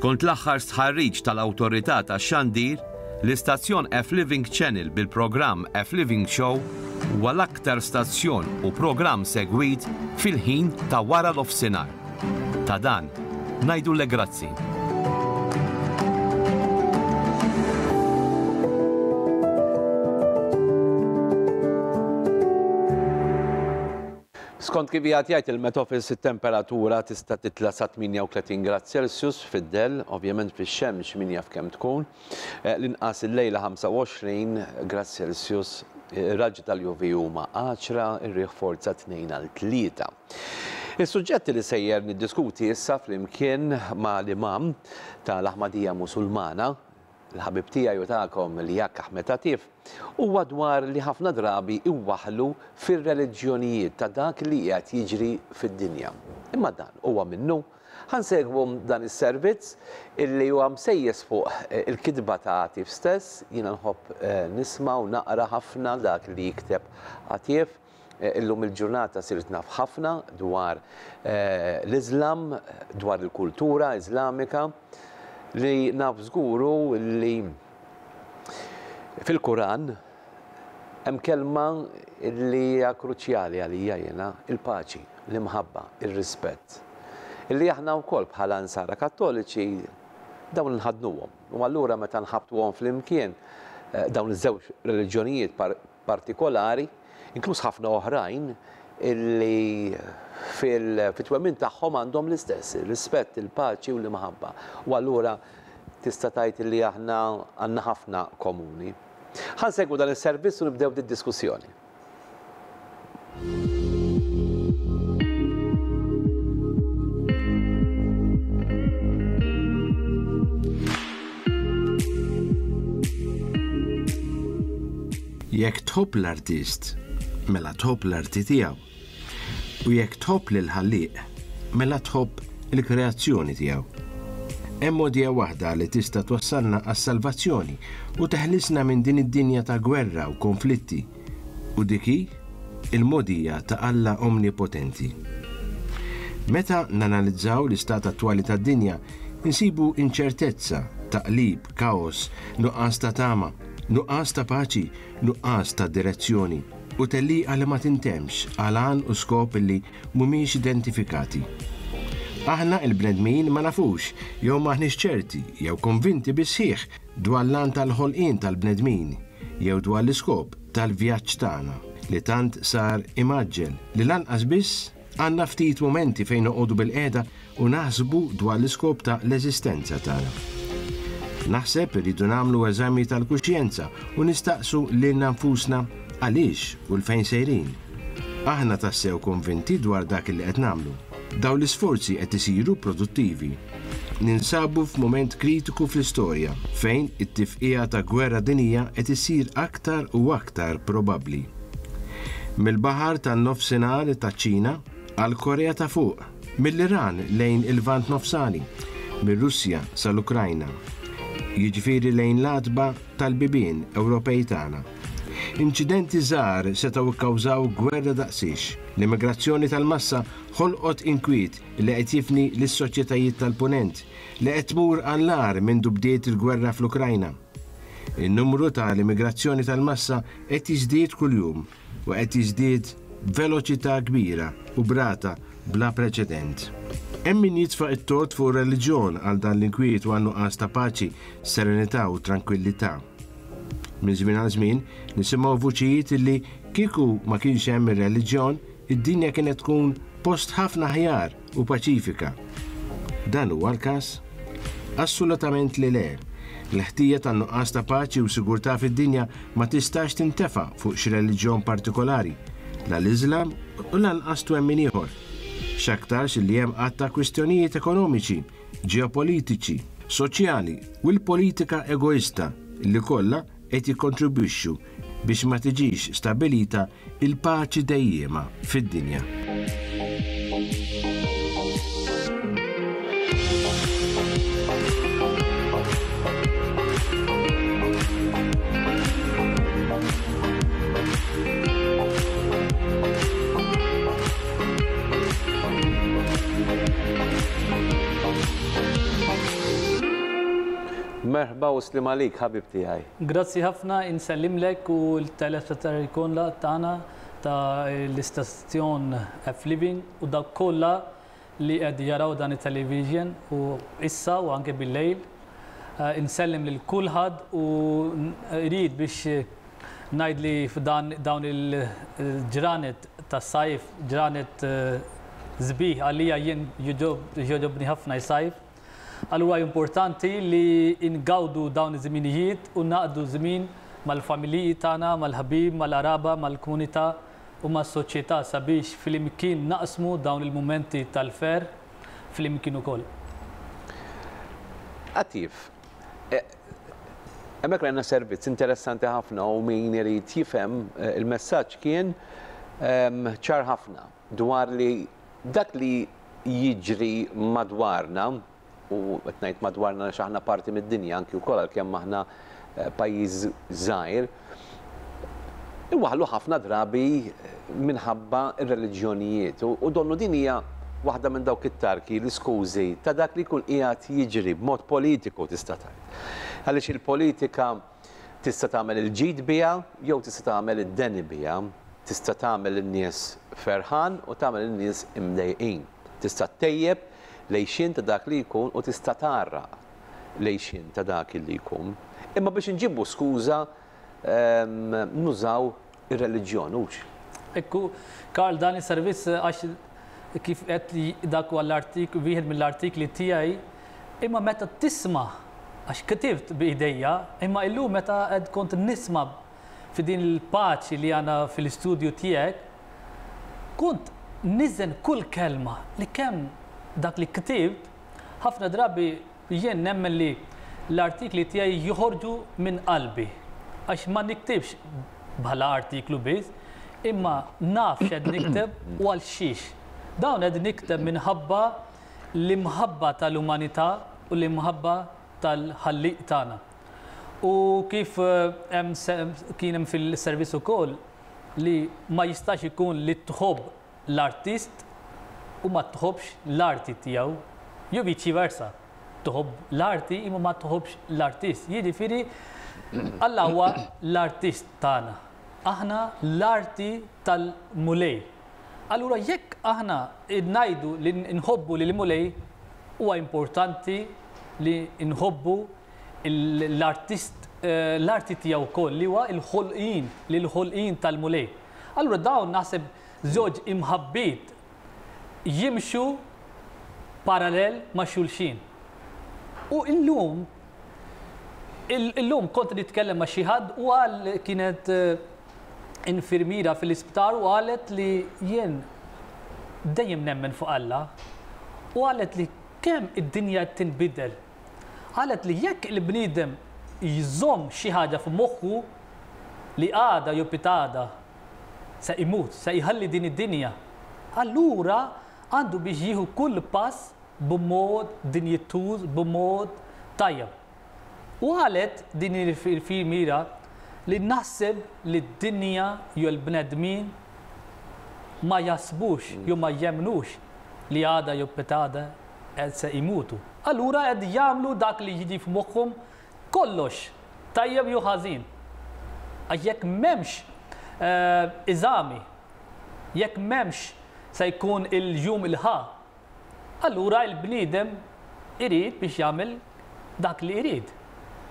Skont l-aħħar stħarriġ tal-Awtorità tax-Xandir, l-istazzjon F-Living Channel bil-programm F-Living Show huwa l-aktar stazzjon u programm segwit fil-ħin ta' wara nofsinhar. Ta' dan, ngħidulek grazzi. Skont kif qiegħed jgħid il-Met Office it-temperatura tista' titla' sa 38 grad Celsius fid-dell, ovvjament fix-xemx min jaf kemm tkun. L-inqas illejla 25 grad Celsius, ir-raġġi tal-UV huma għaxra, ir-riħ forza 2 għal 3. Is-suġġett li sejjer niddiskuti issa flimkien ma' l-Imam tal-Aħmadija Musulmana, il-ħabib tiegħi u tagħkom Liak Ahmed Atif, huwa dwar li ħafna drabi iwaħħlu fir-reliġjonijiet ta' dak li qiegħed jiġri fid-dinja. Imma dan huwa minnu? Ħa nsegwu dan is-servizz illi huwa msejjes fuq il-kitba ta' Atif stess, jiena nħobb nisma' u naqra ħafna dak li jikteb Atif. Illum il-ġurnata sirt naf ħafna dwar l-Iżlam, dwar il-kultura Iżlamika, li naf żgur hu li fil-Kuran hemm kelma li hija kruċjali għalija jiena, il-paċi, l-imħabba, ir-rispett. Illi aħna wkoll bħala Nsara Kattoliċi dawn inħaddnuhom. U allura meta nħabbtuhom flimkien dawn iż-żewġ reliġjonijiet partikolari, inkluż ħafna oħrajn illi fit-twemmin tagħhom għandhom l-istess, ir-rispett, il-paċi u l-imħabba. U allura tista' tgħid illi aħna għandna ħafna komuni. Ħa nsegwu dan is-servizz u nibdew did-diskussjoni. Jekk tħobb l-artist, mela tħobb l-arti tiegħu. U jekk tħobb lill-Ħallieq, mela tħobb il-kreazzjoni tiegħu. Hemm mogħdija waħda li tista' twassalna għas-salvazzjoni u teħlisna minn din id-dinja ta' gwerra u konflitti, u dik hi l-mogħdija ta' Alla Omnipotenti. Meta nanalizzaw l-istat attwali tad-dinja, insibu inċertezza, taqlib, kaos, nuqqas ta' tama, nuqqas ta' paċi, nuqqas ta' direzzjoni, u tellieqa li ma tintemx għal għan u skop li mhumiex identifikati. Aħna il-bnedmin ma nafux, jew m'aħniex ċerti, jew konvinti bis-sħiħ dwar l-għan tal-ħolqien tal-bnedmin, jew dwar l-iskop tal-vjaġġ tagħna, li tant sar imgħaġġel li lanqas biss għandna ftit mumenti fejn noqogħdu bilqiegħda u naħsbu dwar l-iskop ta' l-eżistenza tagħna. Naħseb irridu nagħmlu eżami tal-kuxjenza u nistaqsu lilna nfusna għaliex u 'l fejn sejrin. Aħna tassew konvinti dwar dak li qed nagħmlu? Dawn l-isforzi qed isiru produttivi? Ninsabu f'mument kritiku fl-istorja fejn it-tifqigħa ta' gwerra dinjija qed issir aktar u aktar probabbli. Mill-baħar tan-Nofsinhar taċ-Ċina għall-Korea ta' Fuq, Mill-Iran lejn il-Lvant Nofsani, mir-Russja sal-Ukrajna, jiġifieri lejn l-għatba tal-bibien Ewropej tagħna. Inċidenti żgħar setgħu kkawżaw gwerra daqsiex. L-immigrazzjoni tal-massa ħolqot inkwiet li qed jifni lis-soċjetajiet tal-Punent, li qed tmur għall-agħar mindu bdiet il-gwerra fl-Ukrajna. In-numru ta' l-immigrazzjoni tal-massa qed jiżdied kuljum. u qed jiżdied b'veloċità kbira u b'rata bla preċedent. Hemm min jitfa' t-tort fuq ir-reliġjon għal dan l-inkwiet u għan-nuqqas ta' paċi, serenità u trankwillità. Minn żmien għal żmien nisimgħu vuċijiet illi kieku ma kienx hemm ir-reliġjon, id-dinja kienet tkun post ħafna aħjar u paċifika. Dan huwa l-każ? Assolutament li le. L-ħtija tan-nuqqas ta' paċi u sigurtà fid-dinja ma tistax tintefa' fuq xi reliġjon partikolari, la l-Iżlam u lanqas twemmin ieħor. X'aktarx li hemm għadd ta' kwistjonijiet ekonomiċi, ġeopolitiċi, soċjali u l-politika egoista li kollha qed jikkontribwixxu biex ma tiġix stabbilita l-paċi dejjiema fid-dinja. Merħba u sliem għalik ħabib tiegħi. Grazzi ħafna, insellimlek u l-telespettaturi kollha tagħna ta' l-istazzjon F Living u dawk kollha li qed jaraw dan it-television u issa u anke bil-lejl. Insellem lil kulħadd u rrid biex ngħid li f'dan dawn il-ġranet tas-sajf, ġranet sbieħ għalija jien jogħġobni ħafna s-sajf. Allura importanti li ngawdu dawn iż-żminijiet u naqdu żmien mal-familji tagħna, mal-ħbieb, mal-qraba, mal-komunità u mas-soċjetà sabiex flimkien naqsmu dawn il-mumenti tal-ferħ flimkien ukoll. Atif, hemmhekk rajna servizz interessanti ħafna u min irid jifhem il-messaġġ kien ċar ħafna dwar li dak li jiġri madwarna, u qed ngħid madwarna għax aħna parti mid-dinja anki wkoll għalkemm aħna pajjiż żgħir, iwaħħlu ħafna drabi minħabba r-reliġjonijiet. U donnu din hija waħda minn dawk it-tarki, l-iskużi ta' dak li jkun qiegħed jiġri b'mod politiku tista' tgħid. Għaliex il-politika tista' tagħmel il-ġid biha jew tista' tagħmel id-deni biha, tista' tagħmel in-nies ferħan u tagħmel in-nies imdejqin. Tista' ttejjeb l-għixien ta' dak li jkun u tista' tgħarraq l-għixien ta' dak li jkun. Imma biex inġibu skuża nużaw ir-reliġjon, hux? Ekku, Karl, dan is-servizz għax kif qed li dak huwa l-artik, wieħed mill-artikli tiegħi, imma meta tisma' għax ktibt b'idejja, imma illum meta qed kont nisma' fi din il-paċi li għandna fil-istudju tiegħek, kont niżen kull kelma li kemm dak li ktibt, ħafna drabi Jien nemmen li l-artikli tiegħi joħorġu minn qalbi, għax ma niktibx bħala artiklu biss, imma naf x'qed nikteb u għal xiex. Dawn qed nikteb minħabba l-imħabba tal-umanità u l-imħabba tal-Ħallieq tagħna. U kif hemm kien hemm fil-servizz ukoll li ma jistax ikun li tħobb l-artist u ma tħobbx l-arti tiegħu, jew viċi versa, tħobb l-arti imma ma tħobbx l-artist. Jiġifieri Alla huwa l-artist tagħna. Aħna l-arti tal-Mulej. Allura jekk aħna ngħidu li nħobbu lill-Mulej, huwa importanti li nħobbu l-artist l-arti tiegħu wkoll li huwa l-ħolqien, lill-ħolqien tal-Mulej. Allura dawn naħseb żewġ imħabbiet jimxu parallel ma' xulxin. U illum illum kont nitkellem ma' xi ħadd u qal kienet infirmiera fil-isptar u qalet li jien dejjem nemmen fuq Alla u qalet li kemm id-dinja qed tinbidel. Qalet li jekk il-bniedem jżomm xi ħaġa f'moħħu li għada jew pitgħada se imut, se jħalli din id-dinja, allura għandu biex jieħu kull pass b'mod dinjituż, b'mod tajjeb. U qalet din il-filmira li naħseb li d-dinja jew il-bnedmin ma jaħsbux jew ma jemmnux li għada jew pitgħada se jmutu. Allura qed jagħmlu dak li jiġi f'moħħhom kollox, tajjeb jew ħażin. Għax jekk m'hemmx eżami, jekk m'hemmx se jkun il-jum il-ħa, allura l-bniedem irid biex jagħmel dak li irid.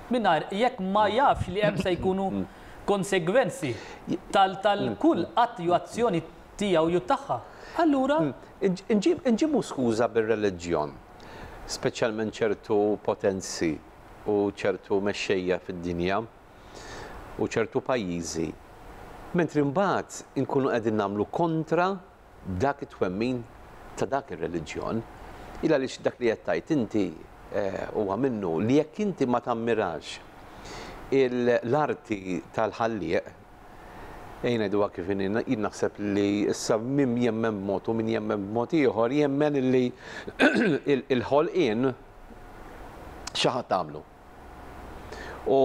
Mingħajr jekk ma jafx li hemm se jkunu konsegwenzi tal-kull att jew azzjoni tiegħu jew tagħha. Allura. Inġibu skuża bir-reliġjon, speċjalment ċertu potenzi u ċertu mexxejja fid-dinja u ċertu pajjiżi, mentri mbagħad inkunu qegħdin nagħmlu kontra dak it-twemmin ta' dak ir-reliġjon. Il għaliex dak li qed tgħid inti huwa minnu li jekk inti ma tammirax l-arti tal-Ħallieq, ejja ngħiduha kif inhi, jien naħseb li issa min jemmen b'mod u min jemmen b'mod ieħor jemmen li l-ħolqien xi ħadd għamlu. U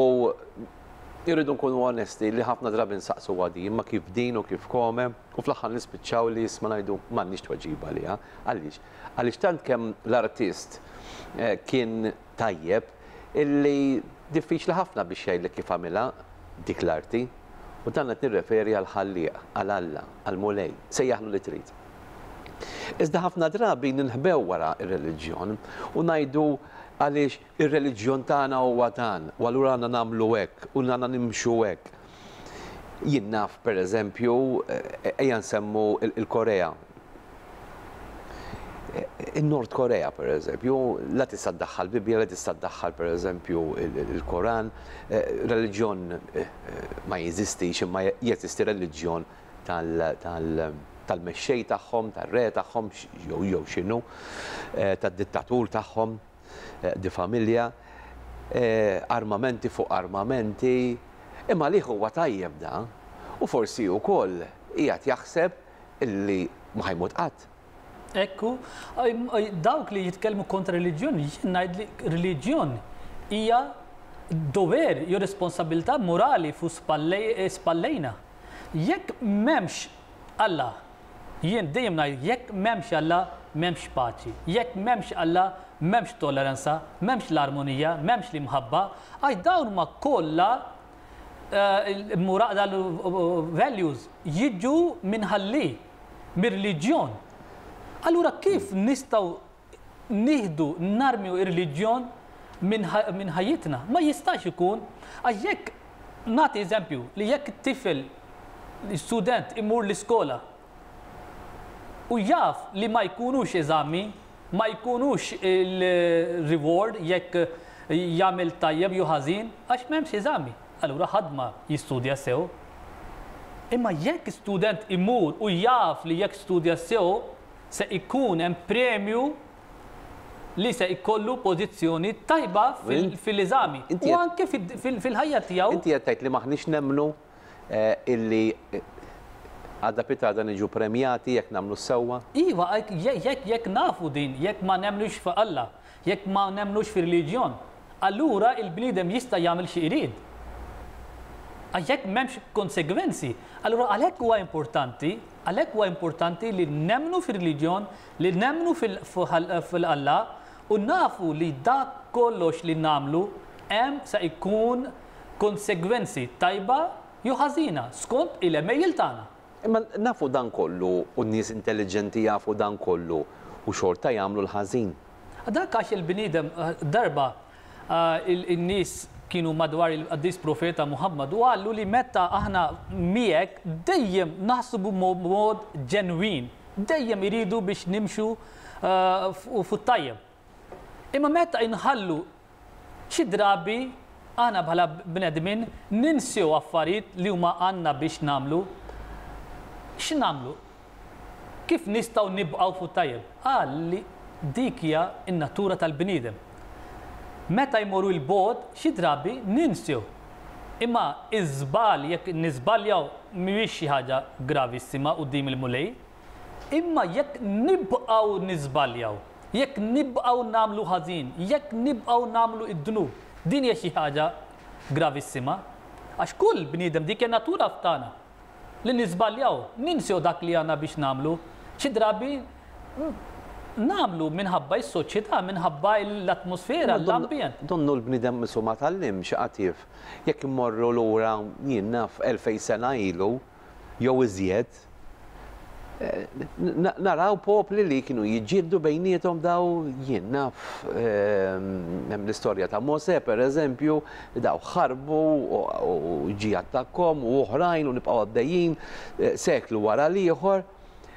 irridu nkunu onesti li ħafna drabi nsaqsuha din, imma kif din u kif kome, u fl-aħħar nispiċċaw li isma' ngħidu m'għandniex tweġiba għaliha. Għaliex? Għaliex tant kemm l-artist kien tajjeb illi Diffiċli ħafna biex jgħidlek kif għamilha dik l-arti. U dan qed nirreferi għall-Ħallieq, għal Alla, għall-Mulej, sejjaħlu li trid. Iżda ħafna drabi ninħbew wara r-reliġjon u ngħidu għaliex ir-reliġjon tagħna huwa dan u allura għandna nagħmlu hekk u għandna nimxu hekk. Jien naf pereżempju, ejja nsemmu l-Korea. In-Nord Korea pereżempju, la tista' ddaħħal Bibbja, la tista' ddaħħal pereżempju il-Koran, reliġjon ma jeżistix imma jeżisti reliġjon tal-mexxej tagħhom, tar-re tagħhom jew x'inhu, tad-dittatur tagħhom, di familja, armamenti fuq armamenti, imma għalih huwa tajjeb da u forsi wkoll qiegħed jaħseb illi ma ħa jmut qatt. Hekk hu. Dawk li jitkellmu kontra reliġjon, jien ngħid li reliġjon hija dover jew responsabilità morali fuq spallejna. Jekk m'hemmx Alla, jien dejjem ngħid jekk m'hemmx Alla m'hemmx paċi. Jekk m'hemmx Alla m'hemmx tolleranza, m'hemmx l-armonija, m'hemmx l-imħabba, għax dawn huma kollha values jiġu minn ħalli, mir-reliġjon. Allura kif nistgħu nieħdu narmju ir-reliġjon minn ħajjitna? Ma jistax ikun għax jekk nagħti eżempju li jekk tifel student imur l-iskola u jaf li ma jkunux eżami, ma jkunux il-reward jekk jagħmel tajjeb jew ħażin għax m'hemmx eżami. Allura ħadd ma jistudja sew. Imma jekk student imur u jaf li jekk studja sew se ikun hemm premju li se jkollu pożizzjoni tajba fil-eżami u anke fil-ħajja tiegħu. Inti qed tgħid li m'aħniex nemmnu illi għada pitgħada niġu premjati jekk nagħmlu s-sewwa? Iva, jekk nafu din, jekk ma nemmnux f'Alla, jekk ma nemmnux fir-reliġjon, allura il-bniedem jista' jagħmel xi jrid. Għax jekk m'hemmx konsegwenzi, allura għalhekk huwa importanti, għalhekk huwa importanti li nemmnu fir-reliġjon, li nemmnu fil-Alla u nafu li dak kollox li nagħmlu hemm se jkun konsegwenzi tajba jew ħażina skont il-għemejjel tagħna. Imma nafu dan kollu u n-nies intelliġenti jafu dan kollu u xorta jagħmlu l-ħażin. Dak għax il-bniedem darba in-nies kienu madwar il-qaddis profeta Muhammad u qalu li meta aħna miegħek dejjem naħsbu b'mod ġenwin, dejjem iridu biex nimxu fuq tajjeb. Imma meta inħallu xi drabi aħna bħala bnedmin ninsew affarijiet li huma għandna biex nagħmlu, x'nagħmlu? Kif nistgħu nibqgħu fuq tajjeb? Qal li dik hija n-natura tal-bniedem. Meta jmorru 'l bogħod xi drabi ninsew. Imma iż-żball jekk niżbaljaw mhuwiex xi ħaġa gravissima quddiem il-Mulej, imma jekk nibqgħu niżbaljaw, jekk nibqgħu nagħmlu ħażin, jekk nibqgħu nagħmlu d-dnub, din hija xi ħaġa gravissima. Għax kull bniedem dik hija natura tagħna li niżbaljaw, ninsew dak li għandna biex nagħmlu. Xi drabi nagħmlu minħabba s-soċjetà, minħabba l-atmosfera, l-ambjent. Donnu l-bniedem qisu ma tgħallimx qatif. Jekk immorru lura jien naf 2000 sena ilu jew iżjed, naraw popli li kienu jiġġieldu bejniethom daw jien naf hemm l-istorja ta' Mosè pereżempju, daw ħarbu u ġie attakkhom u oħrajn u nibqgħu għaddejjin seklu wara l-ieħor.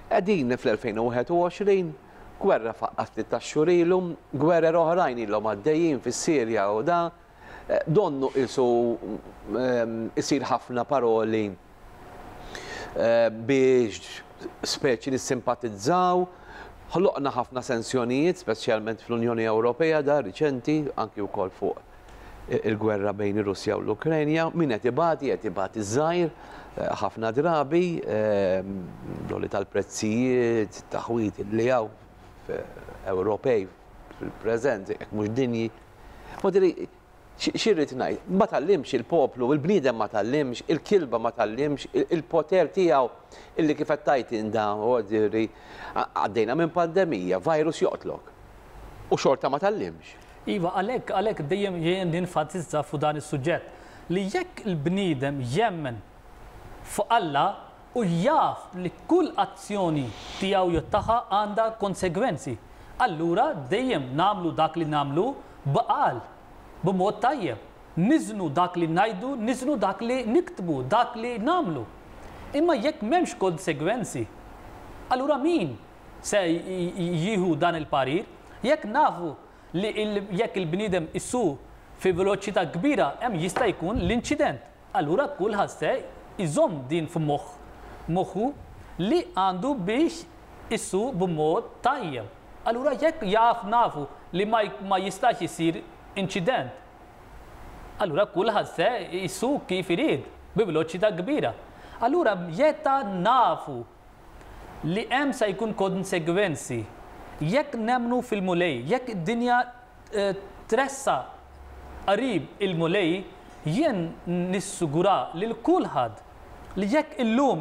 Qegħdin fl-2021, gwerra faqqgħet ftit tax-xhur ilu, gwerer oħrajn ilhom għaddejjin fis-Sirja u da, donnu qisu isir ħafna paroli biex speċi nissimpatizzaw. Ħloqna ħafna sensjonijiet, speċjalment fl-Unjoni Ewropea da riċenti, anki wkoll fuq il-gwerra bejn ir-Russja u l-Ukrenja. Min qed ibati, qed ibati żgħir ħafna drabi, l-għoli tal-prezzijiet, taħwit li hawn Ewropej fil-preżent, jekk mhux dinji. Modiri, x'irrid ngħid? Ma tgħallimx il-poplu, il-bniedem ma tgħallimx, il-kilba ma tgħallimx, il-poter tiegħu illi kif qed tgħid inda, għaddejna minn pandemija, virus joqtlok. U xorta ma tgħallimx. Iva, għalhekk għalhekk dejjem jien ninfasizza fuq dan is-suġġett li jekk il-bniedem jemmen fuq Alla u jaf li kull azzjoni tiegħu jew tagħha għandha konsegwenzi, allura dejjem nagħmlu dak li nagħmlu b'għaqal, b'mod tajjeb. Niżnu dak li ngħidu, niżnu dak li niktbu, dak li nagħmlu. Imma jekk m'hemmx konsegwenzi, allura min se jieħu dan il-parir? Jekk nafu li jekk il-bniedem isuq fi veloċità kbira hemm jista' jkun l-inċident, allura kulħadd se jżomm din f'moħħ moħħu li għandu biex isuq b'mod tajjeb. Allura jekk jaf nafu li ma jistax isir inċident, allura kulħadd se jsuq kif irid, bi veloċità kbira. Allura meta nafu li hemm se jkun konsegwenzi, jekk nemmnu fil-Mulej, jekk id-dinja tressaq qrib il-Mulej, jien nissigura lil kulħadd li jekk illum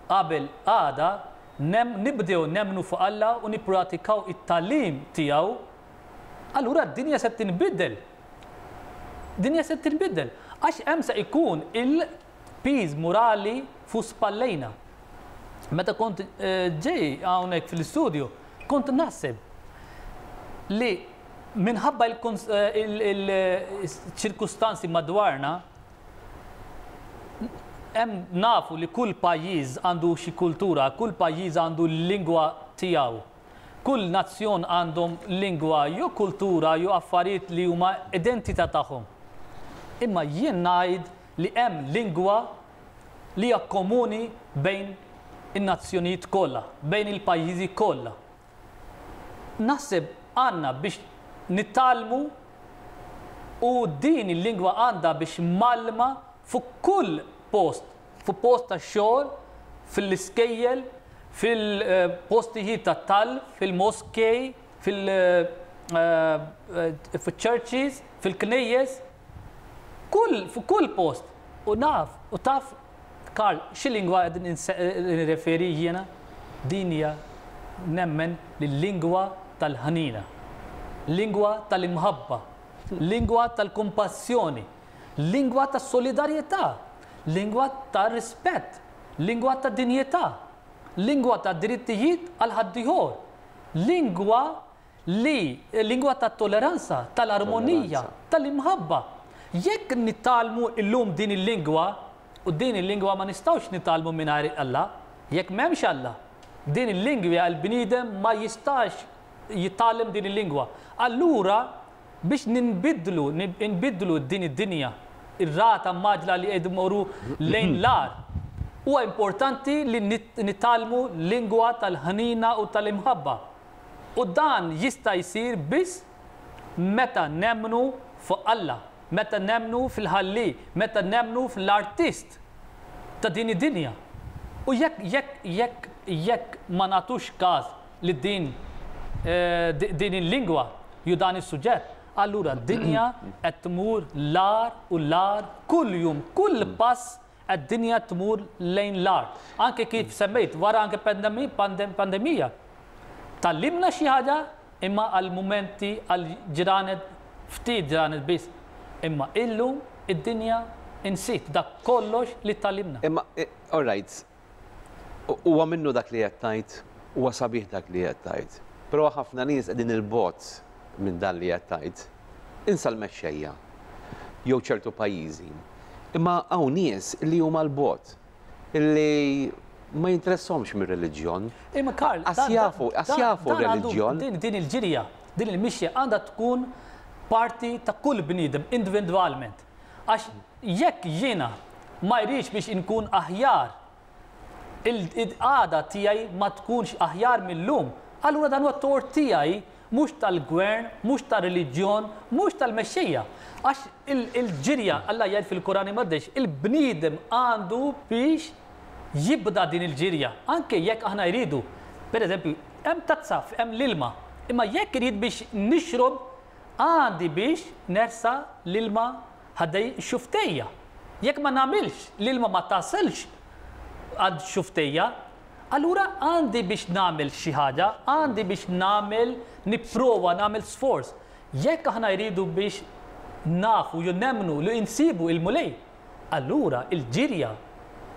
qabel għada nibdew nemmnu fuq Alla u nippratikaw it-tagħlim tiegħu, allura d-dinja se tinbidel. Dinja se tinbidel. Għax hemm se jkun il-piż morali fuq spallejna. Meta kont ġej hawnhekk fil-istudju, kont naħseb li minħabba il-ċirkustanzi madwarna, hemm nafu li kull pajjiż għandu xi kultura, kull pajjiż għandu l-lingwa tiegħu. Kull nazzjon għandhom lingwa jew kultura jew affarijiet li huma identità tagħhom. Imma jien ngħid li hemm lingwa li hija komuni bejn in-nazzjonijiet kollha, bejn il-pajjiżi kollha. Naħseb għandna biex nitgħallmu u din il-lingwa għandha biex mgħallma fuq kull post, fuq post tax-xogħol, fil-iskejjel, fil-postijiet tat-talb, fil-moskej, fil-churches, fil-knejjes, kull fuq kull post. U naf, u taf, Karl, xi lingwa qed nirreferi jiena? Din hija nemmen li l-lingwa tal-ħnina, lingwa tal-imħabba, lingwa tal-kumpassjoni, lingwa tas-solidarjetà, lingwa tar-rispett, lingwa ta' dinjità, lingwa ta' drittijiet għal ħaddieħor, lingwa li lingwa tat-toleranza, tal-armonija, tal-imħabba. Jekk nitgħallmu llum din il-lingwa, u din il-lingwa ma nistgħux nitgħallmu mingħajr Alla, jekk m'hemmx Alla, din il-lingwa l-bniedem ma jistax jitgħallem din il-lingwa. Allura biex ninbidlu, nbiddlu din id-dinja, ir-rata mgħaġġla li qed immorru lejn l-agħar, huwa importanti li nitgħallmu lingwa tal-ħnina u tal-imħabba. U dan jista' jsir biss meta nemmnu fuq Alla, meta nemmnu fil-Ħallieq, meta nemmnu fl-Artist ta' din id-dinja. U jekk jekk jekk jekk ma nagħtux każ li din din il-lingwa jew dan is-suġġett, allura d-dinja qed tmur l-agħar u l-agħar kull jum, kull pass Id-dinja tmur lejn l-agħar. Anke kif semmejt, wara anke pandemija. Tgħallimna xi ħaġa imma għal mumenti, għal ġranet, ftit ġranet biss. Imma illum id-dinja insiet dak kollox li tgħallimna. Imma, all right, huwa minnu dak li qed tgħid, huwa sabiħ dak li qed tgħid. Però ħafna nies qegħdin 'il bogħod minn dan li qed tgħid. Insa l-mexxejja jew ċertu pajjiżi. Imma hawn nies li huma 'l bogħod, li ma jinteressahomx mir-reliġjon. Imma Karl, Qas jafu, qas jafu r-reliġjon. Din il-ġirja, din il-mixja għandha tkun parti ta' kull bniedem individwalment. Għax jekk jiena ma jridx biex inkun aħjar il-qagħda tiegħi ma tkunx aħjar mil-lum, allura dan huwa tort tiegħi mhux tal-gvern, mhux tar-reliġjon, mhux tal-mexxejja. Għax il-ġirja, Alla jgħid fil-Kuran Imqaddes, il-bniedem għandu biex jibda din il-ġirja, anke jekk aħna jridu. Per eżempju, hemm tazza, hemm l-ilma, imma jekk irid biex nixrob, għandi biex nersa' l-ilma Ħaddej xuftejja. Jekk ma nagħmilx, l-ilma ma tasilx għand xuftejja, allura għandi biex nagħmel xi ħaġa, għandi biex nagħmel, nipprova nagħmel sforz. Jekk aħna jridu biex nafu jew nemmnu li insibu il-Mulej, allura il-ġirja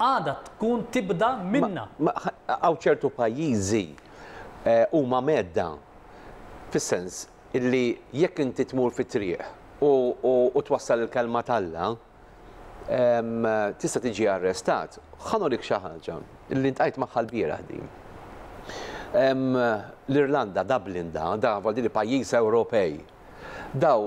għandha tkun tibda minna. Hawn ċertu pajjiżi huma mhedda fis-sens illi jekk inti tmur fit-triq u twassal il-kelma t'Alla, tista' tiġi arrestat. Ħa nurik xi ħaġa li ltqajt magħha lbieraħ din. L-Irlanda, Dublin da, da vuol dire pajjiż Ewropej. Daw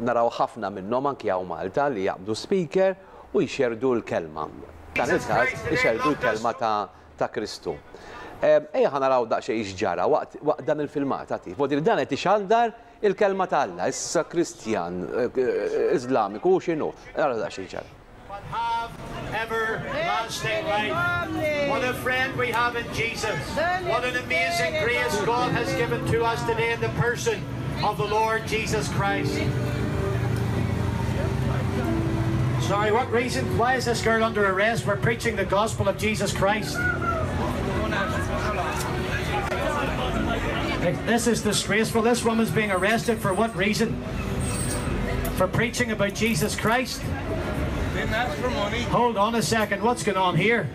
naraw ħafna minnhom anki hawn Malta li jaqbdu speaker u jxerrdu l-kelma. F'dan il-każ ixerrdu l-kelma ta' ta' Kristu. Ejja ħa naraw daqsxejn x'ġara waqt waqt dan il-filmat, għatif. Vuol dire dan qed ixandar il-kelma ta' Alla, issa Kristjan, Iżlamiku u x'inhu. Ara daqsxejn x'ġara. But have everlasting life. What a friend we have in Jesus. What an amazing grace God has given to us today in the person of the Lord Jesus Christ. Sorry, what reason? Why is this girl under arrest? We're preaching the gospel of Jesus Christ. This is disgraceful. This woman's being arrested for what reason? For preaching about Jesus Christ? Didn't ask for money. Hold on a second. What's going on here?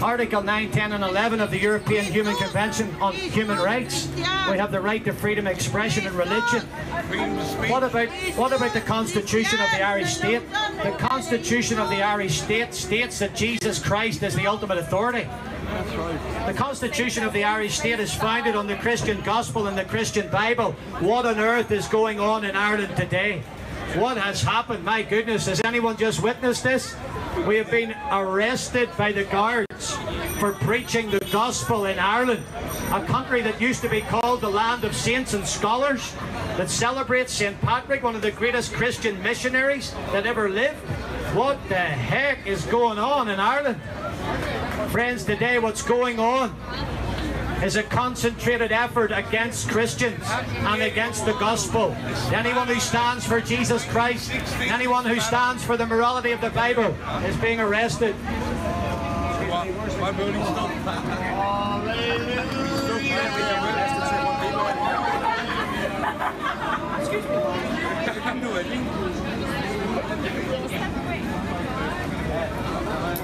Article 9, 10 and 11 of the European Human Convention on Human Rights. We have the right to freedom of expression and religion. Freedom to speak. What about, what about the Constitution of the Irish State? The Constitution of the Irish State states that Jesus Christ is the ultimate authority. That's right. The Constitution of the Irish State is founded on the Christian Gospel and the Christian Bible. What on earth is going on in Ireland today? What has happened? My goodness, has anyone just witnessed this? We have been arrested by the guards for preaching the gospel in Ireland, a country that used to be called the land of saints and scholars, that celebrates St. Patrick, one of the greatest Christian missionaries that ever lived. What the heck is going on in Ireland? Friends, today what's going on is a concentrated effort against Christians and against the gospel. Anyone who stands for Jesus Christ, anyone who stands for the morality of the Bible is being arrested. My booty stop. Excuse me.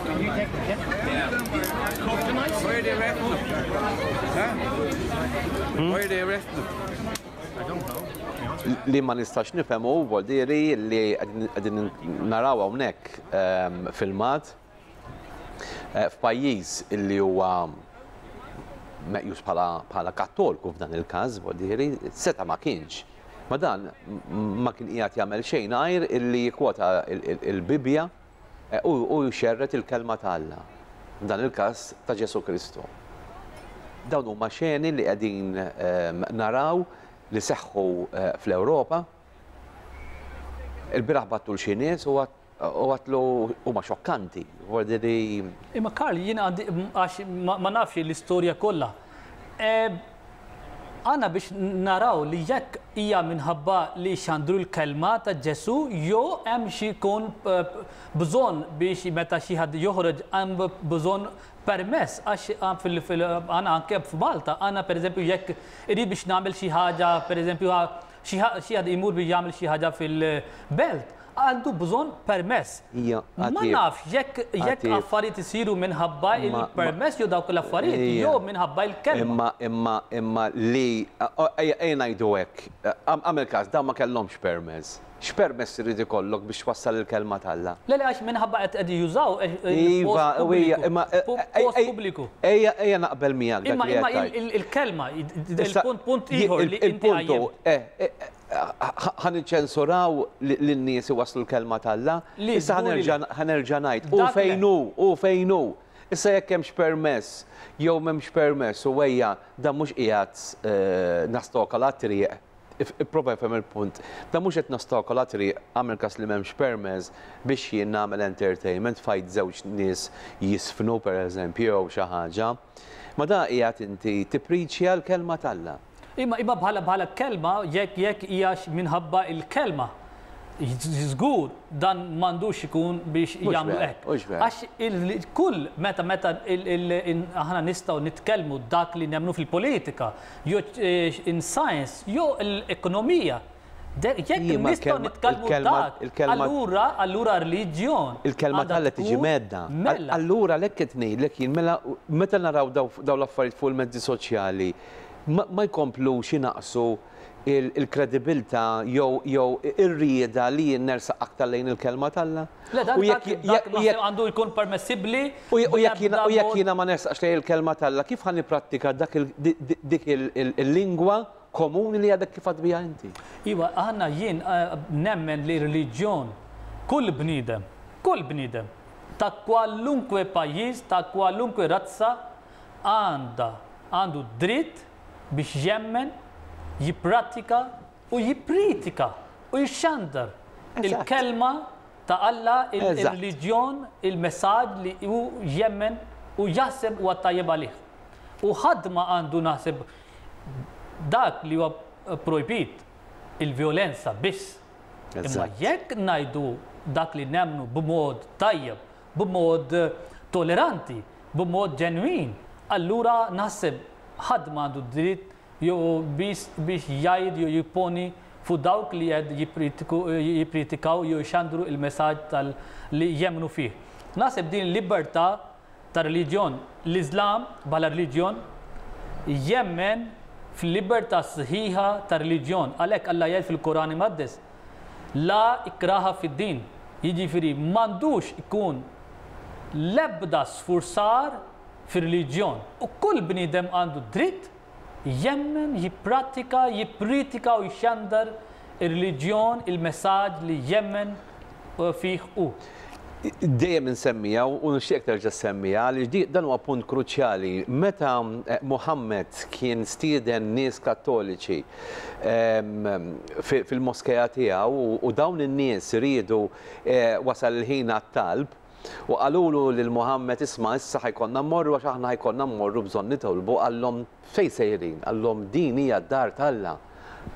Can you take the kit? Why are they arresting them? Huh? Why are they arresting them? Li ma nistax nifhem hu vuol dire li qegħdin naraw hawnhekk filmat f'pajjiż illi huwa meqjus bħala Kattolku f'dan il-każ, vuol dire, seta' ma kienx. Ma dan ma kien qiegħed jagħmel xejn għajr illi jikkwota il-Bibbja u jxerred il-kelma ta' Alla, f'dan il-każ ta' Ġesù Kristu. Dawn huma xeni li qegħdin naraw li seħħu fl-Ewropa. Il-bieraħ bgħattu 'l xi nies u għadtlu huma xokkanti, vuol dire. Imma Karl, jien għandi għax ma nafx l-istorja kollha. Għandna biex naraw li jekk hija minħabba li xandru l-kelma ta' Ġesù jew hemm xi jkun bżonn biex meta xi ħadd joħroġ hemm bżonn permess għax għandna anke f'Malta għandna pereżempju jekk irid biex nagħmel xi ħaġa pereżempju xi ħadd imur biex jagħmel xi ħaġa fil-belt għandu bżonn permess. Ma nafx jekk jekk affarijiet isiru minħabba il-permess jew dawk l-affarijiet jew minħabba il-kelma. Imma imma imma li ejja ngħidu hekk, agħmel każ dawn ma kellhomx permess. X'permess irid ikollok biex twassal il-kelma t'Alla? Le le għax minħabba qed qed jużaw il-post pubbliku. Post pubbliku. Ejja ejja naqbel miegħek dak li qed tgħid. Imma il-kelma, il-punt punt ieħor li inti qajjimt. Ħa niċċensuraw lin-nies iwasslu l-kelma t'Alla? Issa ħa nerġa' ngħid, hu fejn hu, hu fejn hu. Issa jekk hemmx permess jew m'hemmx permess u ejja dan mhux qiegħed nastokola t-triq, ipprova ifhem il-punt, dan mhux qed nostakola t-triq, agħmel każ li m'hemmx permess biex jien nagħmel entertainment fajt żewġ nies jiżfnu pereżempju jew xi ħaġa. Ma dan qiegħed inti tippriċja l-kelma t'Alla. Imma imma bħala bħala kelma jekk jekk hija minħabba il-kelma. Żgur dan m'għandux ikun biex jagħmlu hekk. Għax il-kull meta meta aħna nistgħu nitkellmu dak li nemmnu fil-politika, jew in science, jew l-ekonomija. Jekk nistgħu nitkellmu dak, allura allura reliġjon. Il-kelma t'Alla tiġi mhedda. Mela. Allura għalhekk qed ngħidlek jien mela meta naraw dawn l-affarijiet fuq il-mezzi soċjali ma jkomplux inaqqsu il-kredibilità jew jew ir-rieda li jien nersaq aktar lejn il-kelma t'Alla? Le dak dak naħseb għandu jkun permessibbli. U jekk jiena u jekk jiena ma nersaqx lejn il-kelma t'Alla kif ħa nipprattika dak dik il-lingwa komuni li għadek kif għedt biha inti? Iva, aħna jien nemmen li reliġjon kull bniedem, kull bniedem ta' kwalunkwe pajjiż, ta' kwalunkwe razza għandha għandu dritt biex jemmen, jipprattika u jippritika u jxandar il-kelma ta' Alla, ir-reliġjon, il-messaġġ li hu jemmen u jaħseb huwa tajjeb għalih. U ħadd ma għandu naħseb dak li huwa projbit, il-vjolenza biss. Imma jekk ngħidu dak li nemmnu b'mod tajjeb, b'mod toleranti, b'mod ġenwin, allura naħseb ħadd ma għandu dritt jew biss biex jgħid jew jipponi fuq dawk li qed jippritikaw jew ixandru il-messaġġ tal li jemmnu fih. Naħseb din il-libertà ta' reliġjon, l-Iżlam bħala reliġjon jemmen fil-libertà sħiħa ta' reliġjon. Għalhekk Alla jgħid fil-Koran Imqaddes, La ikraha fid-din, jiġifieri m'għandux ikun l-ebda sfurzar fir-reliġjon u kull bniedem għandu dritt jemmen, jipprattika, jippritika u jxandar ir-reliġjon, il-messaġġ li jemmen fih hu. Dejjem insemmiha u nixtieqek terġa' ssemmiha għaliex di dan huwa punt kruċjali. Meta Muhammad kien stieden nies Kattoliċi fil-moskea tiegħu u dawn in-nies riedu wasal il-ħin għat-talb, U qalulu lil Muhammad, Isma' issa ħa jkollna mmorru għax aħna ħa jkollna mmorru bżonn nitolbu. Qallhom, Fejn sejrin? Qallhom, Din hija d-dar t'Alla.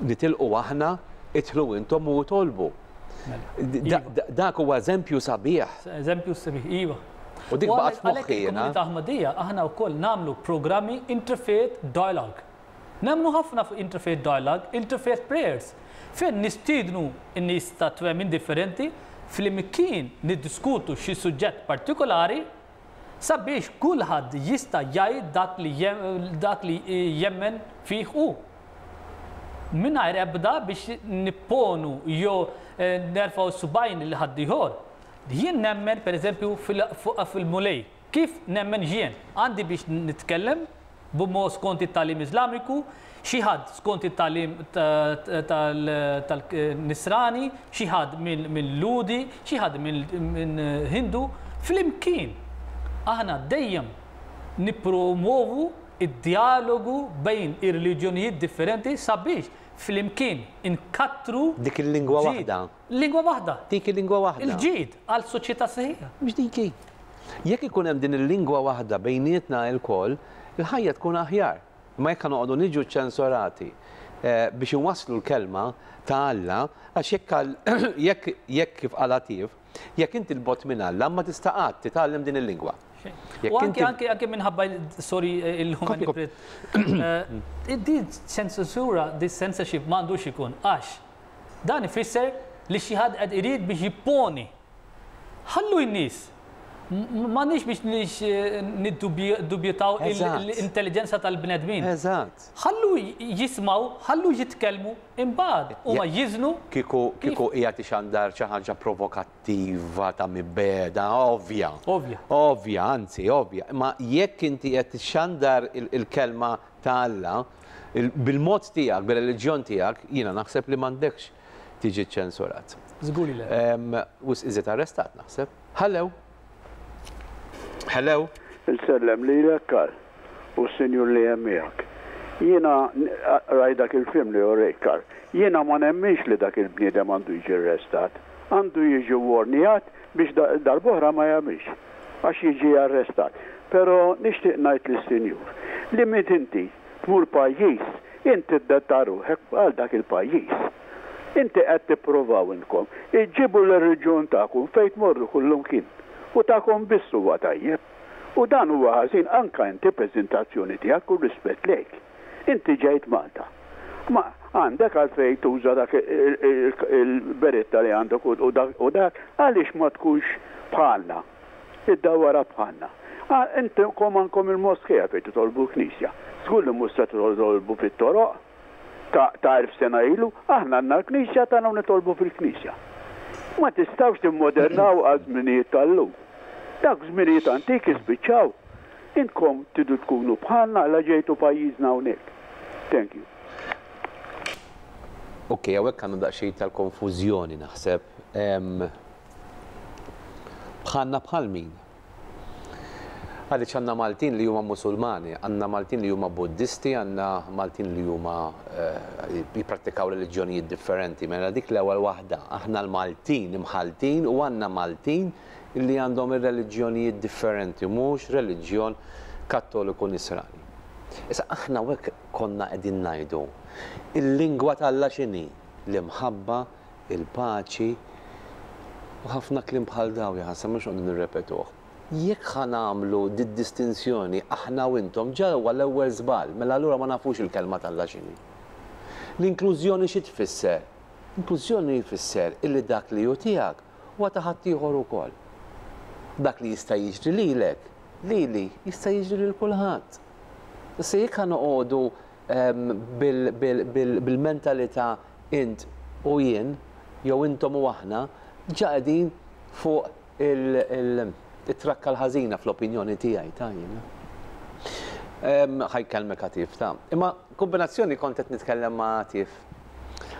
Nitilqu aħna, idħlu intom u itolbu. Dak huwa eżempju sabiħ. Eżempju sabiħ, iva. U dik baqgħet f'moħħi jiena. Għalhekk il-komunità Aħmadija aħna wkoll nagħmlu programmi interfaith dialogue. Nemmnu ħafna fuq interfaith dialogue, interfaith prayers, fejn nistiednu n-nies ta' twemmin differenti flimkien niddiskutu xi suġġett partikolari sabiex kulħadd jista' jgħid dak li dak li jemmen fih hu. Mingħajr ebda biex nipponu jew nerfgħu subgħajn lil ħaddieħor. Jien nemmen pereżempju fil-Mulej. Kif nemmen jien? Għandi biex nitkellem b'mod skont it-tagħlim Iżlamiku, xi ħadd skont it-tagħlim tal-Nisrani, xi ħadd minn Lhudi, xi ħadd minn Hindu. Flimkien aħna dejjem nippromwovu d-djalogu bejn ir-reliġjonijiet differenti sabiex flimkien inkattru Dik il-lingwa waħda. Lingwa waħda. Dik il-lingwa waħda. Il-ġid għal soċjetà sħiħa. Mhux dik hi. Jekk ikun hemm din il-lingwa waħda bejnietna ilkoll, il-ħajja tkun aħjar. Imma jekk ħa noqogħdu niġu ċċensorati biex inwasslu l-kelma ta' Alla, għax jekk jekk jekk kif qal Għatif, jekk inti 'l bogħod minn Alla ma tista' qatt titgħallem din il-lingwa. U anke anke anke minħabba sorry il-human Din ċensura, this censorship m'għandux ikun għax Dan ifisser li xi ħadd qed irid biex jipponi. Ħallu n-nies. M'għandniex biex niddubjutaw l-intelliġenza tal-bnedmin. Eżatt. Ħallu jismgħu, ħallu jitkellmu, imbagħad huma jiżnu. Kieku kieku qiegħed ixandar xi ħaġa provokattiva ta' mibegħda, ovvja. Ovvja. Ovvja, anzi ovvja. Imma jekk inti qed tixandar il-kelma ta' Alla, bil-mod tiegħek, bir-reliġjon tiegħek, jiena naħseb li m'għandekx tiġi ċċensurat. Żgur li le. Wisq iżjed arrestat naħseb. Hello. Hello. Insellem lilek Karl u s-sinjur li hemm miegħek. Jiena rajt dak il-film li urejt Karl. Jiena ma nemminx li dak il-bniedem għandu jiġi arrestat. Għandu jiġi warnjat biex darb'oħra ma jagħmilx. għax jiġi arrestat. Pero nixtieq ngħid lis-Sinjur li meta inti tmur pajjiż int tiddetta ruħek għal dak il-pajjiż. Inti qed tippruvaw intkom iġġibu l-reliġjon tagħkom fejn tmorru kullumkien u tagħkom biss huwa tajjeb. U dan huwa ħażin anka inti preżentazzjoni tiegħek u rispett lejk. Inti ġejt Malta. Ma. Għandek għalfejn tuża dak il-beritta li għandek u dak, għaliex ma tkunx bħalna? Iddawwarha bħalna. Intom għandkom il-moskea fejn titolbu l-knisja. Żgur li mhux se titolbu fit-toroq ta' 1000 sena ilu. Aħna għandna l-knisja tagħna u nitolbu fil-knisja. Ma tistgħux timmodernaw għaż-żminijiet tal-lum. Dawk żminijiet antiki spiċċaw. Intkom tridu tkunu bħalna la ġejtu pajjiżna hawnhekk. Thank you. Ok, hawnhekk għandna daqsxejn tal-konfużjoni naħseb. Bħalna bħal min? Għaliex għandna Maltin li huma Musulmani, għandna Maltin li huma Buddisti, għandna Maltin li huma eh, jipprattikaw reliġjonijiet differenti. Mela dik l-ewwel waħda, aħna l-Maltin imħaltin u għandna Maltin li għandhom ir-reliġjonijiet differenti u mhux reliġjon Kattoliku Nisrani. Issa aħna hawnhekk konna qegħdin ngħidu, il-lingwa t'Alla x'inhi? L-imħabba, il-paċi u ħafna kliem bħal dawn jaħasra mhux noqogħdu nirrepetuh. Jekk ħa nagħmlu did-distinzjoni aħna u intom ġa huwa l-ewwel żball, mela allura ma nafux il-kelma t'Alla x'inhi. L-inklużjoni xi tfisser? Inklużjoni jfisser illi dak li hu tiegħek huwa ta' ħaddieħor ukoll. Dak li jista' jiġri lilek, lili, jista' jiġri lil kulħadd. Issa jekk ħa noqogħdu bil-mentalità int u jien, jew intom u aħna, ġa qegħdin fuq it-trakka l-ħażina fl-opinjoni tiegħi ta' jiena. Ħa jkellmek Atif ta'. Imma kombinazzjoni kont qed nitkellem ma' Atif.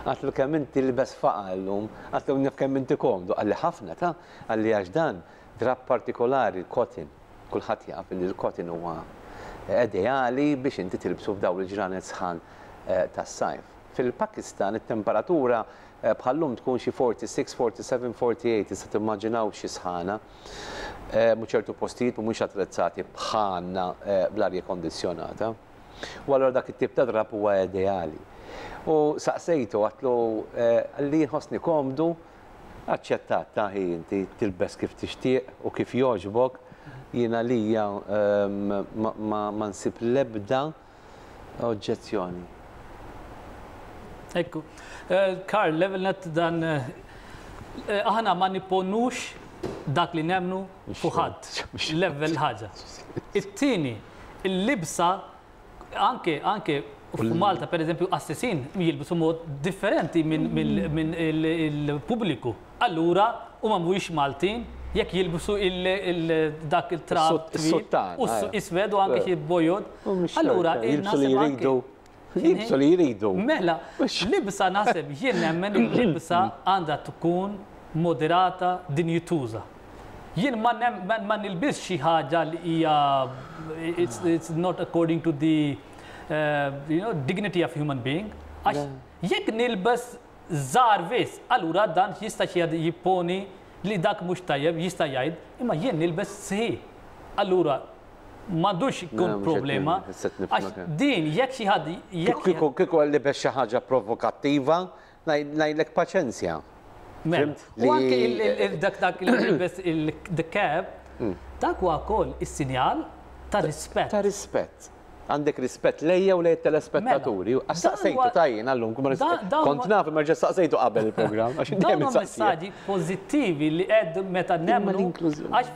Għatlu kemm inti libes faqa llum, għatlu naf kemm inti komdu, qalli ħafna ta' qalli għax dan drapp partikolari l-cotton. Kulħadd jaf li l-cotton huwa ideali biex inti tilbsu f'dawn il-ġranet sħan tas-sajf. Fil-Pakistan it-temperatura bħal-lum tkun xi 46, 47, 48, tista' timmaġinaw xi sħana. U ċertu postijiet mhumiex attrezzati bħalna bl-arja kondizzjonata. U allura dak it-tip ta' drapp huwa ideali. U saqsejtu għatlu li nħossni komdu, aċċettat ta' hi inti tilbes kif tixtieq u kif jogħġbok, jien għalija ma nsib l-ebda oġġezzjoni. Ekku. Karl, level net dan aħna ma nipponux dak li nemmnu fuq ħadd. Level ħaġa. It-tieni, il-libsa anke anke f'Malta per eżempju qassisin jilbsu mod differenti minn il-pubbliku. Allura huma mhuwiex Maltin jekk jilbsu dak il-trab twil u iswed u anke xi bojod. Allura jilbsu li jridu. Jilbsu li jridu. Mela, libsa naħseb jien nemmen li libsa għandha tkun moderata dinjituża. Jien ma ma nilbisx xi ħaġa li hija it's not according to the you know dignity of human being. Għax jekk nilbes żgħar biss, allura dan jista' xi ħadd jipponi li dak mhux tajjeb, jista' jgħid, imma jien nilbes sħiħ. Allura m'għandux ikun problema. Għax din jekk xi ħadd jekk. Kieku kieku libes xi ħaġa provokattiva, ngħidlek paċenzja. Mela. U anke dak dak li jilbes il-the cap, dak huwa wkoll is-sinjal ta' rispett. Ta' rispett. Għandek rispett lejja u lejn it-telespettaturi. Mela, Għax saqsejtu ta' jien għallum, kont naf imma ġa saqsejtu qabel il-programm. Dawn huma messaġġi pożittivi li qed meta nemmnu għax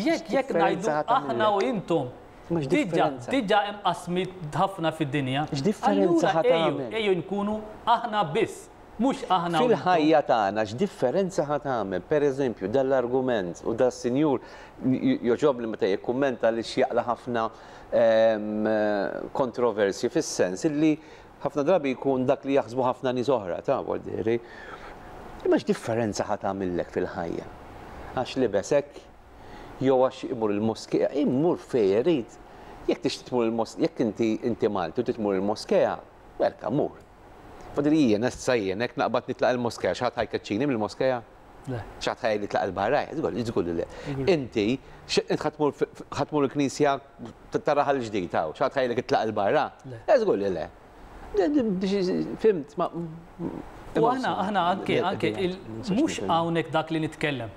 jekk jekk ngħidu aħna u intom. Diġà diġà hemm qasmiet ħafna fid-dinja. X'differenza ħa tagħmel? Ejjew nkunu aħna biss. Mhux aħna u intom. Fil-ħajja tagħna x'differenza ħa tagħmel? Per eżempju, dan l-argument u das-sinjur jogħġobni meta jikkummenta għaliex jaqla' ħafna kontroversji fis-sens illi ħafna drabi jkun dak li jaħsbu ħafna nies oħra, ta' vuol dire. Imma x'differenza ħa tagħmillek fil-ħajja? Għax libes hekk jew għax imur il-moskea, imur fejn irid. Jekk tixtieq tmur il-moskea, jekk inti inti Malti u trid tmur il-moskea, welcome mur. Fadli jien, issa jien, hekk naqbad nitlaq il-moskea, xi ħadd ħa jkeċċini mill-moskea? Le. Xi ħadd ħa jgħidli tlaq 'il barra? Żgur, żgur li le. Inti, int ħa tmur ħa tmur il-knisja ta' Raħal Ġdid hawn, xi ħadd ħa jgħidlek itlaq 'il barra? Le. Żgur li le. Fhimt, ma. U aħna, aħna anke, anke, mhux hawnhekk dak li nitkellem.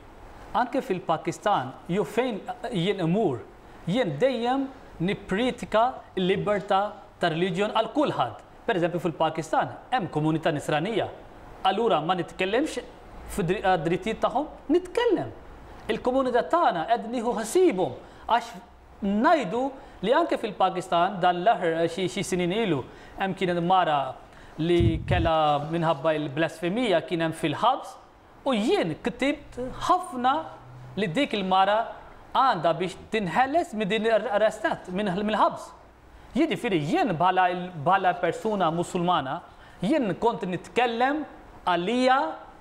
Anke fil-Pakistan, jew fejn jien imur, jien dejjem nippriedka l-libertà ta' reliġjon għal kulħadd. Pereżempju fil-Pakistan hemm komunità Nisranija. Allura ma nitkellimx għad-drittijiet tagħhom? Nitkellem. Il-komunità tagħna qed nieħu ħsiebhom għax ngħidu li anke fil-Pakistan dan l-aħħar xi snin ilu hemm kienet mara li kellha minħabba l-blasfemija kien hemm fil-ħabs u jien ktibt ħafna li dik il-mara għandha biex tinħeles minn din arrestat mill-ħabs. Jiġifieri jien bħala bħala persuna Musulmana jien kont nitkellem għalija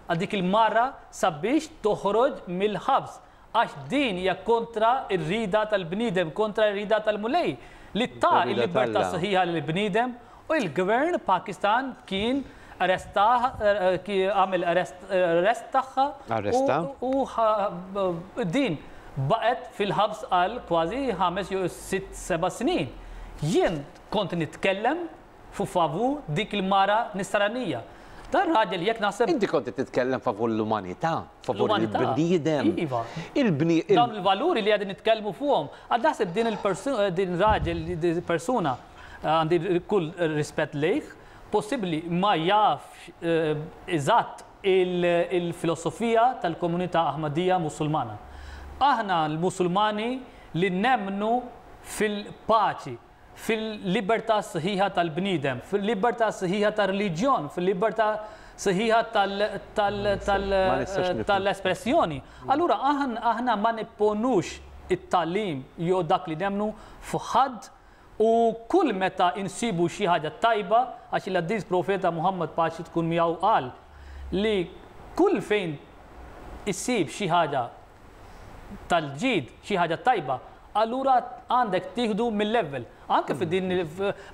għal dik il-mara sabiex toħroġ mill-ħabs għax din hija kontra r-rieda tal-bniedem, kontra r-rieda tal-Mulej li ta l-libertà sħiħa lill-bniedem u l-gvern Pakistan kien arrestah, għamel arrest tagħha u din baqgħet fil-ħabs għal kważi ħames jew sitt seba' snin. Jien kont nitkellem fu favur dik il-mara nisranija. Dan raġel jekk naħseb. Inti kont qed titkellem favur l-umanità, favur il-bniedem. Iva. Dawn il-valuri li qegħdin nitkellmu fuqhom. Għad naħseb din il-persuna, din raġel, din persuna għandi kull rispett lejh, possibbli ma jafx eżatt il-filosofija tal-komunità Ahmadija Musulmana. Aħna l-Musulmani li nemmnu fil-paċi, fil-libertà sħiħa tal-bniedem, fil-libertà sħiħa tar-reliġjon, fil-libertà sħiħa tal-espressjoni. Allura aħna ma nipponux it-tagħlim jew dak li nemmnu fuq ħadd u kull meta insibu xi ħaġa tajba, għax il-qaddis Profeta Muhammad paċi tkun miegħu qal li kull fejn issib xi ħaġa tal-ġid, xi ħaġa tajba, allura għandek tieħdu mill-ewwel. Anke fi din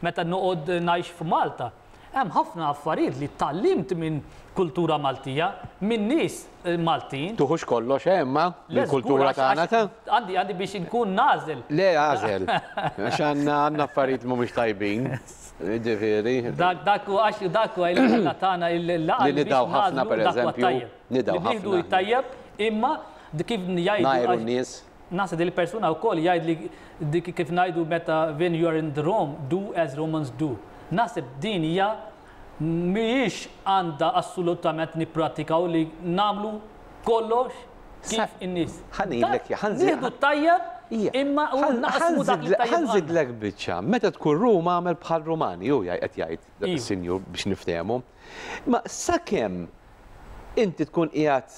meta noqgħod ngħix f'Malta, hemm ħafna affarijiet li tgħallimt minn kultura Maltija, minn nies Maltin. Tuħux kollox, eh, imma mill-kultura tagħna ta'. Għandi għandi biex inkun nagħżel. Le għażel. Għax għandna għandna affarijiet mhumiex tajbin. Ġifieri. Dak dak hu għax dak huwa il-ħela tagħna il-laqgħa li nidgħu ħafna pereżempju. Nidgħu ħafna. Nieħdu t-tajjeb imma kif jgħidu. Ngħajru n-nies. Naħseb din il-persuna wkoll jgħid li dik kif ngħidu meta when you are in the Rome, do as Romans do. Naħseb din hija mhijiex għandha assolutament nipprattikaw li nagħmlu kollox kif in-nies. Ħa ngħidlek, ħa nżid. Nieħdu t-tajjeb imma u naqsmu dak li tajjeb. Ħa nżidlek biċċa. Meta tkun Ruma agħmel bħal Rumani, hu qed jgħid dak is-sinjur biex niftehmu. Imma sakemm inti tkun qiegħed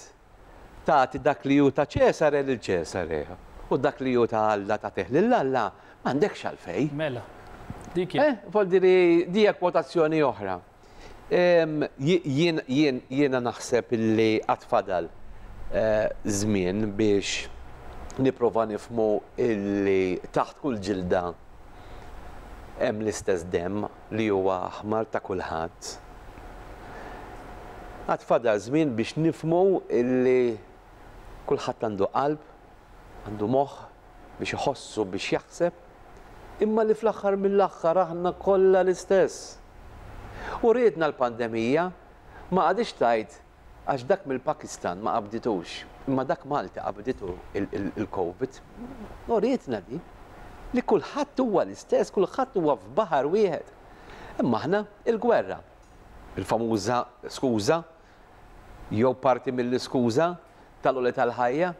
tagħti dak li hu ta' Ċesare lil Ċesare u dak li hu ta' Alla tagħtih lil Alla, m'għandekx għalfejn. Mela, dik hi. Eh, vuol dire di hija kwotazzjoni oħra. Jien jien jiena naħseb illi għad fadal żmien biex nipprova nifhmu illi taħt kull ġilda hemm l-istess demm li huwa aħmar ta' kulħadd. Għad fadal żmien biex nifhmu illi kulħadd għandu qalb, għandu moħħ biex iħoss u biex jaħseb, imma li fl-aħħar mill-aħħar aħna kollha l-istess. U riedna l-pandemija ma qagħditx tgħid Għax dak mill-Pakistan ma qabditux, imma dak Malti qabditu il-Covid. Urietna di li kulħadd huwa l-istess, kulħadd huwa f'baħar wieħed. Imma aħna il-gwerra, il-famuża skuża jew parti mill-iskuża tal-għoli tal-ħajja,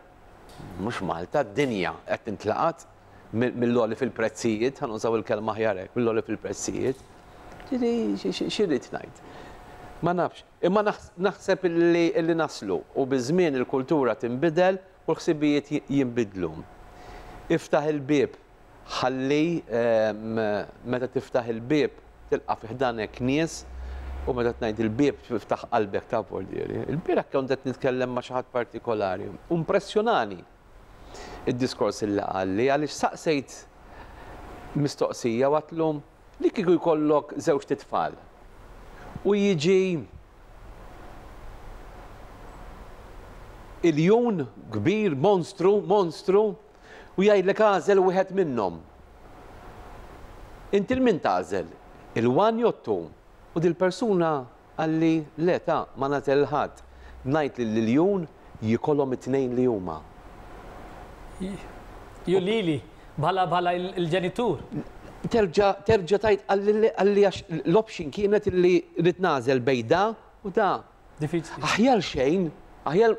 mhux Malta, d-dinja qed tintlaqat mill-għoli fil-prezzijiet, ħa nużaw il-kelma aħjar hekk, mill-għoli fil-prezzijiet. Ġifieri xi rrid ngħid? Ma nafx. Imma naħseb illi naslu u biż-żmien il-kultura tinbidel u l-ħsibijiet jinbidlu. Iftaħ il-bieb ħalli meta tiftaħ il-bieb tilqa' fi ħdanek nies u meta ngħid il-bieb tiftaħ qalbek ta' voldieri. Il-bieraħ kont qed nitkellem ma' xi ħadd partikolari u impressjonani id-diskors illi qalli għaliex saqsejt mistoqsija u għedtlu Li kieku jkollok żewġt itfal u jiġi iljun kbir, monstru, monstru, u jgħidlek agħżel wieħed minnhom. Inti 'l min tagħżel? Il-one jew t-two? U dil-persuna Qalli, Le ta, ma nagħżel 'il ħadd. Ngħid lill-iljun jikolhom it-tnejn li huma. Jew lili, bħala bħala l-ġenitur. Terġa' terġa' tgħid qalli għax l-option kienet illi rrid nagħżel bejn da u da. Diffiċli. Aħjar xejn, aħjar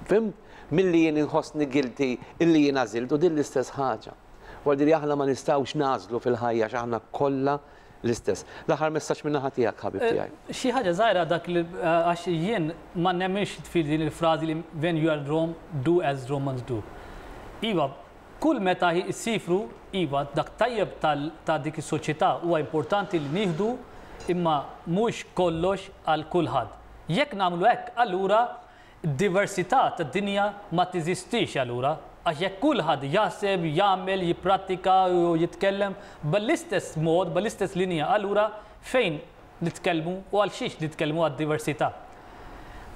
fhimt, milli jien inħossni guilty illi jien għażilt u din l-istess ħaġa. Vuol dire aħna ma nistgħux nagħżlu fil-ħajja għax aħna kollha l-istess. L-aħħar messaġġ min-naħa tiegħek ħabib tiegħi. Xi ħaġa żgħira dak li għax jien ma nemminx fi din il-frażi li when you are in Rome, do as Romans do. Iva, Kull meta issifru, iva, dak tajjeb ta' dik is-soċjetà huwa importanti li nieħdu imma mhux kollox għal kulħadd. Jekk nagħmlu hekk allura d-diversità tad-dinja ma teżistix allura għax jekk kulħadd jaħseb, jagħmel, jipprattika u jitkellem bl-istess mod, bl-istess linja allura fejn nitkellmu u għal xiex nitkellmu għad-diversità?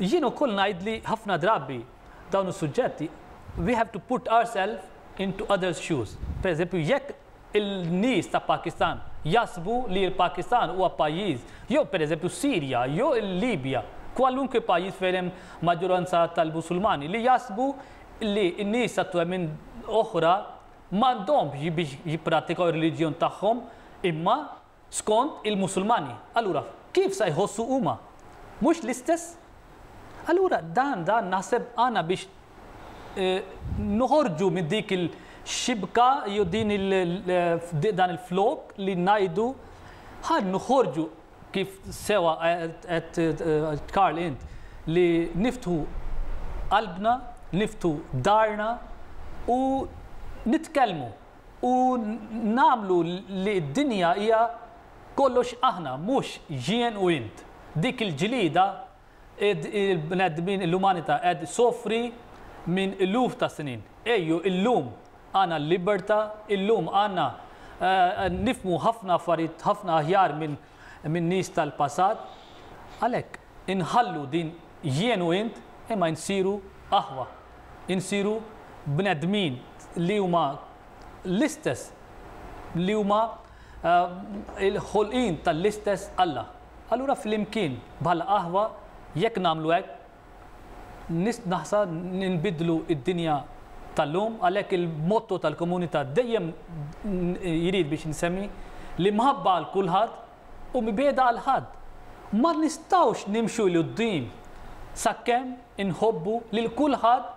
Jien ukoll ngħid li ħafna drabi dawn is-suġġetti, we have to put ourselves into others' shoes. Per eżempju, jekk il-nies ta' Pakistan jaħsbu li l-Pakistan huwa pajjiż, jew per eżempju Sirja, jew il-Libja, kwalunkwe pajjiż fejn hemm maġġoranza tal-Musulmani li jaħsbu li n-nies ta' twemmin oħra m'għandhomx biex jipprattikaw ir-reliġjon tagħhom imma skont il-Musulmani. Allura, kif sa jħossu huma? Mhux l-istess? Allura dan dan naħseb għandna biex noħorġu minn dik il-xibka jew din il dan il-flok li ngħidu ħa noħorġu kif sewa qed Karl int li niftħu qalbna, niftħu darna u nitkellmu U nagħmlu li d-dinja hija kollox aħna, mhux jien u int. Dik il-ġlieda il-bnedmin, l-umanità qed issofri minn eluf ta' snin. Ejju illum għandna l-libertà, illum għandna nifhmu ħafna affarijiet ħafna aħjar minn nies tal-passat. Għalhekk inħallu din jien u int imma nsiru aħwa. Insiru bnedmin li huma l-istess, li huma l-ħolqien tal-istess Alla. Allura flimkien bħala aħwa jekk nagħmlu hekk, naħsa nbiddlu d-dinja tal-lum, għalhekk il-motto tal-komunità dejjem jrid biex insemmi l-imħabba għal kulħadd u mibegħda għal ħadd. Ma nistgħux nimxu 'l quddiem sakemm inħobbu lil kulħadd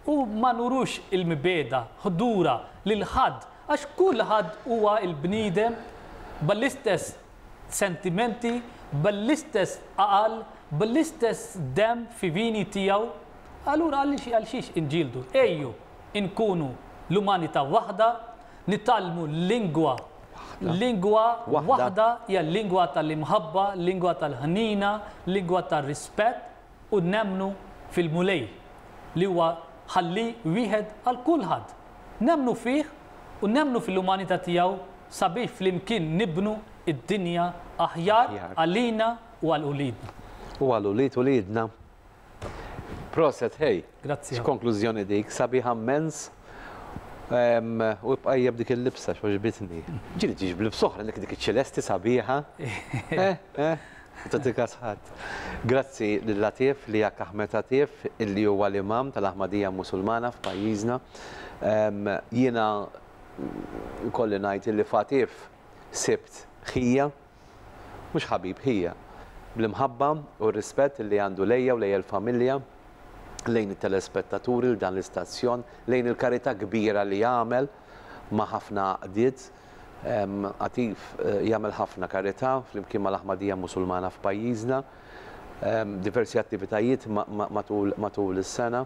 u ma nurux il-mibegħda, ħdura, lil ħadd, għax kulħadd huwa l-bniedem bl-istess sentimenti, bl-istess għaqal, bl-istess demm fi vini tiegħu. Allura għaliex għal xiex inġieldu? Ejju inkunu l-umanità waħda, nitgħallmu lingwa lingwa waħda hija l-lingwa tal-imħabba, lingwa tal-ħnina, lingwa tar-rispett, u nemmnu fil-Mulej, li huwa Ħallieq wieħed għal kulħadd. Nemmnu fih u nemmnu fil-umanità tiegħu sabiex flimkien nibnu d-dinja aħjar għalina u għal uliedna. U għal ulied uliedna. Proset ħej. Grazzi ħafna. X'konklużjoni dik, sabiħa mmens. U ibqa' ejja b'dik il-libsa x'għoġbitni. Ġieli ġiex b'libsa oħra, dik iċ-ċelesti sabiħa. Eh, eh. Ma tagħti kas ħadd. Grazzi lil Latif, Liak Ahmed Latif, illi huwa l-Imam tal-Ahmadiyya Musulmana f'pajjiżna. Jiena jkolli ngħid illi f'Atif sibt ħija, mhux ħabib, ħija, bl-imħabba u r-rispett illi għandu lejja u lejn il-familja, lejn it-telespettaturi, lil dan l-istazzjon, lejn il-karità kbira li jagħmel ma' ħafna għaqdiet. Atif jagħmel ħafna karità flimkien mal-Aħmadija Musulmana f'pajjiżna, diversi attivitajiet matul is-sena.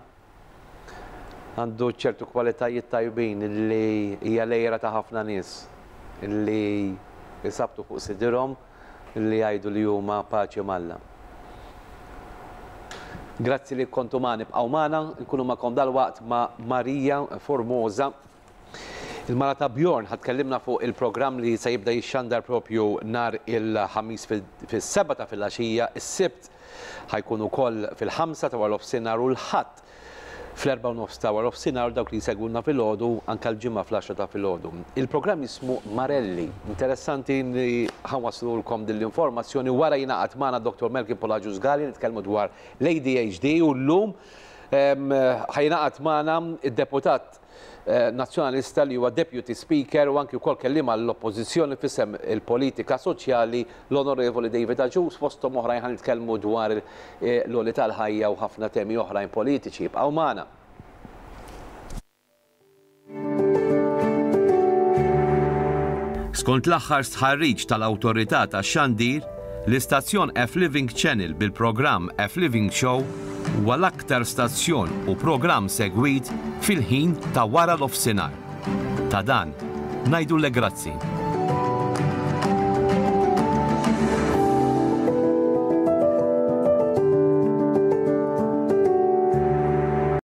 Għandu ċertu kwalitajiet tajbin li hija l-għira ta' ħafna nies li jsabbtu fuq sidirhom li jgħidu li huma paċi m'Alla. Grazzi li kontu magħna, ibqgħu magħna, nkunu magħkom dalwaqt ma' Maria Formosa. Il-mara ta' Bjorn ħa tkellimna fuq il-programm li se jibda jixxandar propju nhar il-Ħamis fis-sebgħa ta' filgħaxija, is-Sibt ħa jkun ukoll fil-ħamsa ta' waranofsinhar u l-Ħadd fl-erbgħa u nofs ta' waranofsinhar u dawk li jsegwuna filgħodu anke l-Ġimgħa fl-għaxra ta' filgħodu. Il-programm jismu Marelli. Interessanti li ħa nwasslulkom din l-informazzjoni wara jingħaqad magħna Dottor Melkin Polagius Galea nitkellmu dwar l-ADHD u llum ħa jingħaqad magħna d-deputat. Nazzjonalista li huwa Deputy Speaker u anki wkoll kelliem għall-Oppożizzjoni f'isem il-politika soċjali l-Onorevoli David Agius fosthom oħrajn ħa nitkellmu dwar l-għoli tal-ħajja u ħafna temi oħrajn politiċi. Ibqgħu magħna. Skont l-aħħar stħarriġ tal-Awtorità tax-Xandir, l-istazzjon F-Living Channel bil-programm F-Living Show huwa l-aktar stazzjon u programm segwit fil-ħin ta' wara nofsinhar. Ta' dan, ngħidulek grazzi.